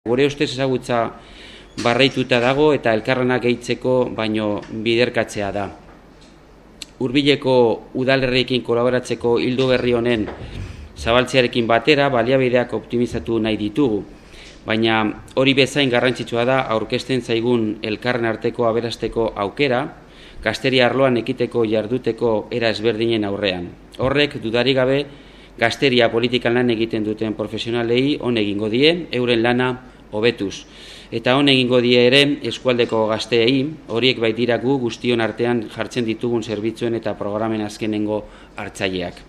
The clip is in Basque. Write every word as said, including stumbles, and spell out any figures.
Gure ustez ezagutza barreituta dago eta elkarlanak gehitzeko baino biderkatzea da. Hurbileko udalerriekin kolaboratzeko ildo berri honen zabaltzearekin batera baliabideak optimizatu nahi ditugu, baina hori bezain garrantzitsua da aurkezten zaigun elkarren arteko aberasteko aukera, gazteria arloan ekiteko jarduteko era ezberdinen aurrean. Horrek dudarik gabe gazteria politikan lan egiten duten profesionalei on egingo die, euren lana hobetuz. Eta on egingo die ere eskualdeko gazteei, horiek baitira gu guztion artean jartzen ditugun zerbitzuen eta programen azkenengo hartzaileak.